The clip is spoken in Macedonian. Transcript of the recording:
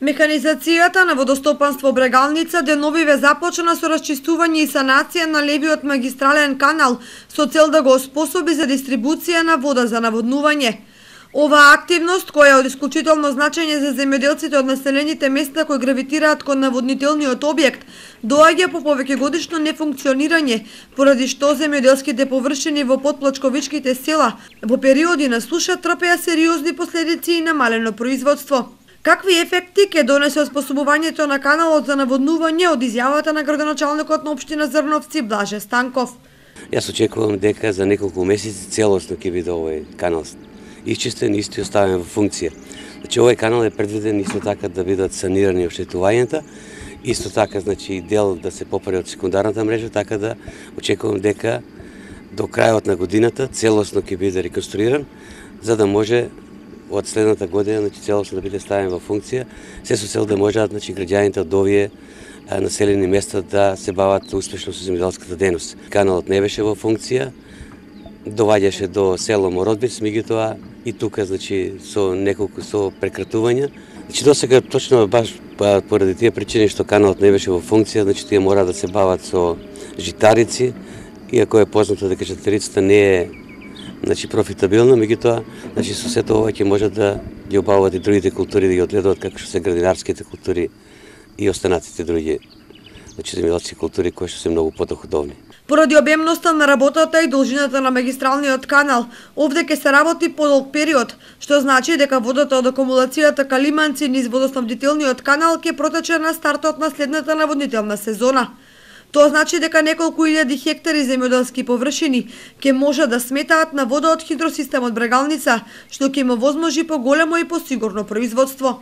Механизацијата на водостопанство Брегалница деновиве започна со расчистување и санација на левиот магистрален канал со цел да го оспособи за дистрибуција на вода за наводнување. Оваа активност, која е од исклучително значење за земјоделците од населените места кои гравитираат кон наводнителниот објект, доаѓа по повеќегодишно нефункционирање, поради што земјоделските површини во потплачковичките села во периоди на суша трпеа сериозни последици и намалено производство. Какви ефекти ќе донесе оспособувањето на каналот за наводнување од изјавата на градоначалникот на општина Зрновци Блаже Станков? Јас очекувам дека за неколку месеци целосно ќе биде овој канал исчистен и исто оставен во функција. Значи овој канал е предвиден исто така да бидат санирани оштетувањата, исто така значи дел да се поправи од секундарната мрежа, така да очекувам дека до крајот на годината целосно ќе биде реконструиран, за да може од следната година значи целосно да биде ставен во функција, се со цел да можат значи граѓаните од овие населени места да се бават успешно со земјоделската дејност. Каналот не беше во функција, доваѓаше до село Мородбиц, меѓутоа и тука значи со прекратувања. Значи досега точно баш поради тие причини што каналот не беше во функција, значи тие мора да се бават со житарици, иако е познато дека житарицата не е значи профитабилна, меѓутоа значи со сето ова ќе можат да ги обават и другите култури, да ги одгледуваат како што се градинарските култури и останатите други значи земјоделски култури кои што се многу подоходовни. Поради обемноста на работата и должината на магистралниот канал, овде ќе се работи подолг период, што значи дека водата од акумулацијата Калиманци низ водоснабдителниот канал ќе протече на стартот на следната наводнителна сезона. Тоа значи дека неколку илјади хектари земјоделски површини ќе може да сметаат на вода од хидросистемот Брегалница, што ќе им овозможи поголемо и посигурно производство.